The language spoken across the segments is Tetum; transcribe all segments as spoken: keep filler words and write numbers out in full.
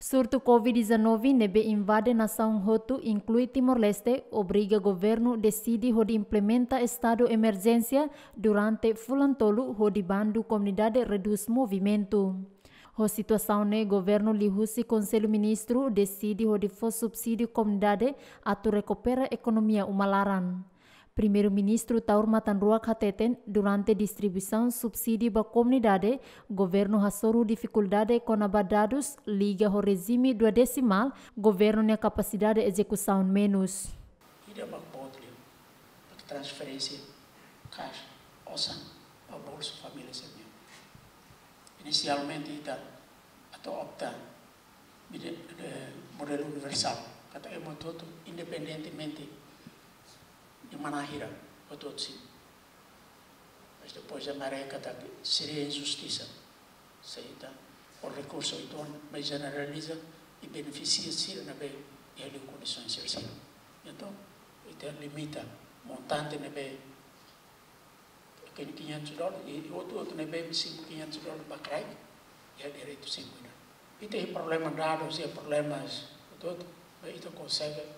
Surtu COVID-19 ne'ebé invade nasaun hotu, inklui Timor-Leste, obriga governu deside hodi implementa estadu emerjénsia durante fulan tolu hodi bandu komunidade redús movimentu. Ho situasaun ne'e, governu liuhusi Konsellu Ministru deside hodi fó subsídiu komunidade atu rekupera ekonomia uma laran. Primeiru-Ministru Taur Matan Ruak hateten, durante distribuisaun subsídiu ba komunidade, governu hasoru difikuldade kona-ba dadus liga ho rejime duodesimál, governu nia kapasidade ezekusaun menus. Ida mak boot liu, mak transferénsia kaixa osan ba bolsu família sira-nian. Inisialmente ita atu opta modelu universál, katak ema hotu-hotu, independentemente de manahira, hotu-hotu simu. Mas depois ita haree katak seria injustisa se ita ho rekursu uitoan mai jeneraliza i benefisia sira ne'ebé iha liu kondisaun sira seluk. Entaun, ita limita montante ne'ebé ke quinhentos dólares, i hotu-hotu ne'ebé simu quinhentos dólares ba kraik, iha direitu simu ida. Ita iha problema dadus, iha problemas hotu-hotu, mas ita konsege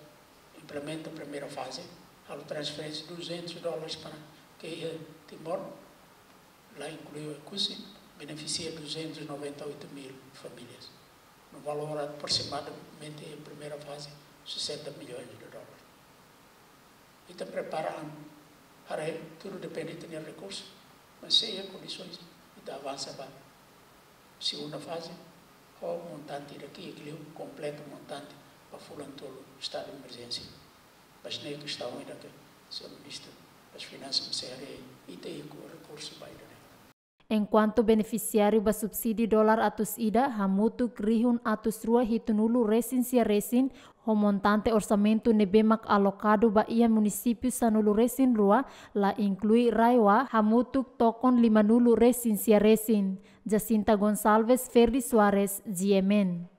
implementa primeira faze, halo transferénsia duzentos dólares para ke iha Timor, la inklui Oekusi, benefisia duzentos e noventa e oito mil famílias. No valór aproximadamente iha primeira faze, sessenta milhões de dólares. Ita prepara an, haree, tudu depende ita-nia rekursu, mas se iha kondisaun, ita avansa ba segunda faze, ho montante ida ke liu kompleta montante ba fulan tolu estadu emerjénsia. Mas ne'e kestaun ida ke señór Ministru das Finansas mesti haree, ita iha rekursu ba ida-ne'e. Enkuantu benefisiáriu ba subsídiu dolar atus ida hamutuk rihun atus rua hitunulu resin sia resin, ho montante orsamentu ne'ebé mak alokadu ba iha munisípiu sanulu resin rua, la inklui RAEOA, hamutuk tokon limanulu resin sia resin. Jacinta Gonçalves, Ferdi Soares, G M N.